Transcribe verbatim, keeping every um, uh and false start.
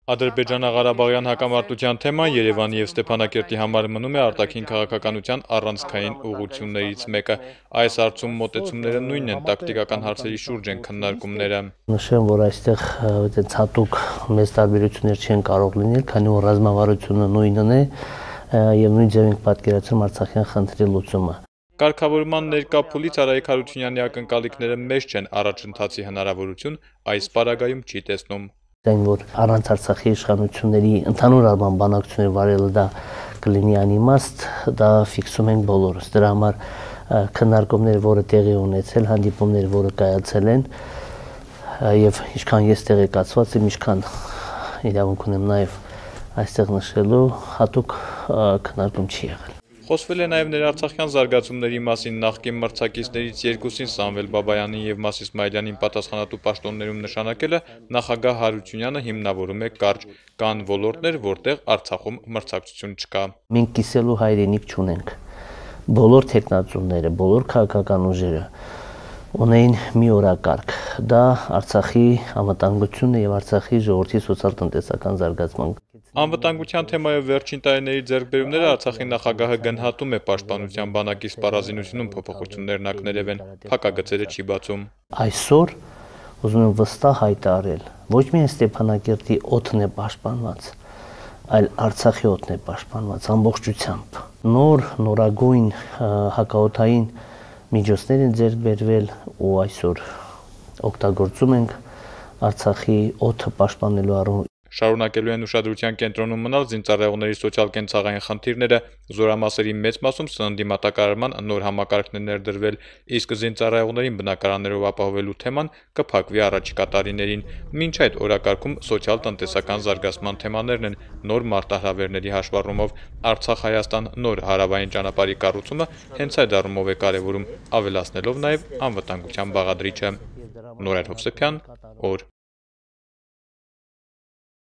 Ադրբեջանա-Ղարաբաղյան հակամարտության թեման Երևանի եւ Ստեփանակերտի համար մնում է արտաքին քաղաքականության առանցքային ուղղություններից մեկը։ Այս հարցում մոտեցումները նույնն են, տակտիկական հարցերի շուրջ են քննարկումները։ Նշեմ, որ այստեղ այդպես հատուկ մեծ տարբերություններ չեն կարող լինել, քանի որ ռազմավարությունը նույնն է եւ նույն ձև ենք պատկերացնում Արցախյան խնդրի լուծումը։ Կարգավորման ներկա փուլից Արայիկ Հարությունյանի ակնկալիքները մեծ չեն, առաջընթացի հնարավորություն այս պարագայում չի տեսնում։ Այն որ առանց Արցախի իշխանությունների ընդհանուր առմամբ բանակցություններ վարելը դա կլինի անիմաստ, դա ֆիքսում ենք բոլորս։ Դրա համար քննարկումները, որը տեղի ունեցել, հանդիպումները, որը կայացել են, եւ ինչքան ես տեղեկացված եմ, ինչքան իրավունք ունեմ նաեւ այստեղ նշելու, հատուկ քննարկում չի եղել։ Խոսվել է նաև ներարցախյան զարգացումների մասին, նախկին մրցակիցներից երկուսին Սամվել Բաբայանին եւ Մաս Իսմայելյանին պատասխանատու պաշտոններում նշանակելը նախագահ Հարությունյանը հիմնավորում է կարճ, կան ոլորտներ, որտեղ Արցախում մրցակցություն չկա։ Մենք կիսելու հայրենիք չունենք։ Բոլոր տեխնացուները, բոլոր քաղաքական ուժերը ունեին մի օրակարգ, դա Արցախի անվտանգությունը եւ Արցախի ժողովրդի սոցիալ-տնտեսական զարգացման։ Անվտանգության թեմայով վերջին տարիների ձեռքբերումները Արցախի նախագահը գնահատում է պաշտպանության բանակի սպառազինությունում փոփոխություններն ակներև են, փակագծերը չի բացում։ Այսօր ուզում եմ վստահ հայտարարել, ոչ միայն Ստեփանակերտի օդն է պաշտպանված, այլ Արցախի օդն է պաշտպանված ամբողջությամբ։ Նոր նորագույն հակաօդային միջոցներ են ձեռք բերվել ու այսօր օգտագործում ենք Արցախի օդը պաշտպանելու առումով։ Շարունակելու են ուշադրության կենտրոնում մնալ զինծառայողների սոցիալ-կենցաղային խնդիրները, զորամասերի մեծ մասում սննդի մատակարարման նոր համակարգն է ներդրվել, իսկ զինծառայողներին բնակարաններով ապահովելու թեման կփակվի առաջիկա տարիներին։ Մինչ այդ օրակարգում սոցիալ-տնտեսական զարգացման թեմաներն են, նոր մարտահրավերների հաշվառումով Արցախ-Հայաստան նոր հարավային ճանապարհի կառուցումը հենց այդ առումով է կարևորում, ավելացնելով նաև անվտանգության բաղադրիչը։ Նորայր Հովսեփյան, օր